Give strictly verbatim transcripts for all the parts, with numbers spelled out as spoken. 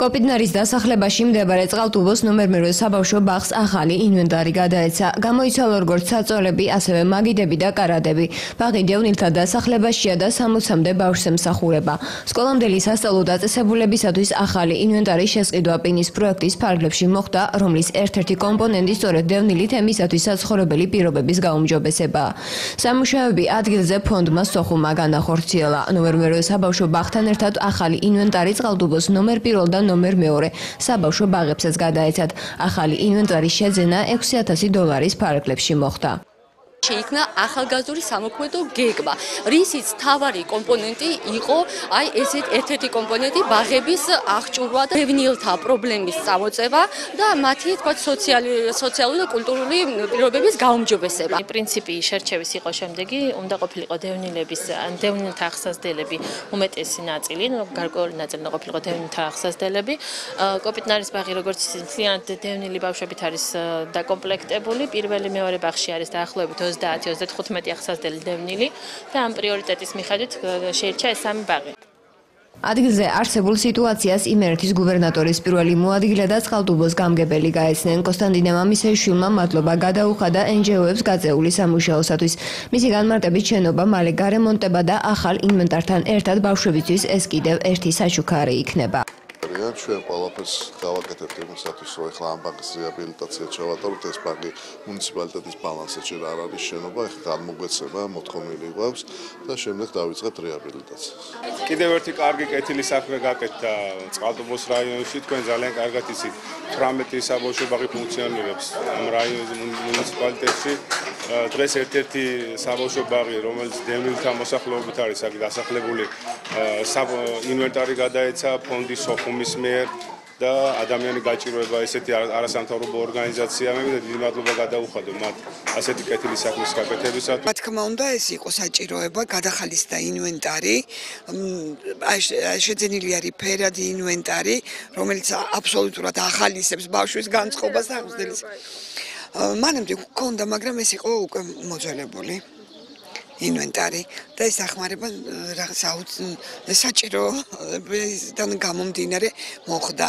კოპიდნარის დასახლებაში მდებარე წყალტუბოს ნომერ მერვე საბავშვო ბაღს ახალი ინვენტარი გადაეცა. გამოიცვალა როგორც საწოლები, ასევე მაგიდები და კარადები. ბაღი დევნილთა დასახლებაშია და სამოცამდე ბავშვს ემსახურება. სკოლამდელი სასწავლო დაწესებულებისათვის ახალი ინვენტარის შესყიდვა პინის პროექტის ფარგლებში მოხდა, რომლის ერთ-ერთი კომპონენტი სწორედ დევნილი თემისათვის საცხოვრებელი პირობების გაუმჯობესებაა. სამუშაოები ადგილზე ფონდმა სოხუმმა განახორციელა. ნომერ მერვე საბავშვო ბაღთან ერთად ახალი ინვენტარი წყალტუბოს ნომერ პირველ და ნომერ მეორე საბავშვო ბაღებსაც გადაეცათ. ახალი ინვენტარის შეძენა ექვსი ათასი დოლარის ფარგლებში მოხდა. შეიქმნა ახალგაზრდული სამოქმედო გეგმა, რისიც მთავარი კომპონენტი იყო აი ესეთ ერთ-ერთი კომპონენტი ბაღების აღჭურვა და დევნილთა პრობლემის წამოწევა და მათი თქვა სოციალური და კულტურული პირობების გაუმჯობესება. პრინციპი შერჩევის იყო შემდეგი, უნდა ყოფილიყო დევნილების ან დევნილთა აღსაზრდელები უმეტესი ნაწილი, გარკვეული ნაწილი უნდა ყოფილიყო დევნილთა აღსაზრდელები. კოპიდნარის ბაღი როგორც მთლიანად დევნილი ბავშვებით არის დაკომპლექტებული, პირველი მეორე ბაღში არის დაახლოებით ოცდაათი ოცდათხუთმეტი აღსაზრდელი დევნილი და ამ პრიორიტეტის მიხედვით შეირჩა ეს სამი ბაღი. ადგილზე არსებულ სიტუაციას იმერეთის გუბერნატორის პირველი მოადგილე და წყალტუბოს გამგებელი გაეცნენ. კონსტანტინე მამისეშვილმა მადლობა გადაუხადა ენ ჯი ო-ებს გაწეული სამუშაოსათვის. მისი განმარტებით შენობა მალე გარემონტება და ახალ ინვენტართან ერთად ბავშვებისთვის ეს კიდევ ერთი საჩუქარი იქნება. ჩვენ ყველაფერს გავაკეთებთ იმისათვის, რომ ეხლა ამ ბაღის რეაბილიტაცია ჩავატაროთ. ეს ბაღი მუნიციპალიტეტის ბალანსზე ჯერ არ არის შენობა, ეხლა გამოგვეცემა, მოთხოვნილი გვაქვს და შემდეგ დავიწყებთ რეაბილიტაციას. კიდევ ერთი კარგი კეთილი საქმე გაკეთდა წყალტუბოს რაიონში. თქვენ ძალიან კარგად იცით, თვრამეტი საბავშვო ბაღი ფუნქციონირებს ამ რაიონის მუნიციპალიტეტში. დღეს ერთ-ერთი საბავშვო ბაღი, რომელიც დევნილთა მოსახლეობით არის აქ დასახლებული, ინვენტარი გადაეცა ფონდის სოხუმის მიერ და ადამიანი გაჭირვება ესეთი არასამთავრობო ორგანიზაციებმა და დიდი მადლობა გადაუხადო მათ ასეთი კეთილი საქმის გაკეთებისათვის. რა თქმა უნდა, ეს იყო საჭიროება, გადახალისდა ინვენტარი, შეძენილი არის ფერადი ინვენტარი, რომელიც აბსოლუტურად ახალისებს ბავშვის განწყობას აღზრდელს. მანამდე გქონდა, მაგრამ ეს იყო უკვე მოძველებული ინვენტარი და ეს ახმარება რაღაც საჭიროებიდან გამომდინარე მოხდა.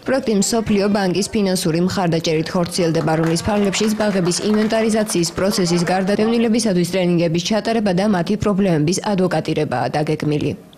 პროექტი მსოფლიო ბანკის ფინანსური მხარდაჭერით ხორციელდება, რომლის ფარგლებშიც ბაღების ინვენტარიზაციის პროცესის გარდა დევნილებისათვის ტრენინგების ჩატარება და მათი პრობლემების ადვოკატირებაა დაგეგმილი.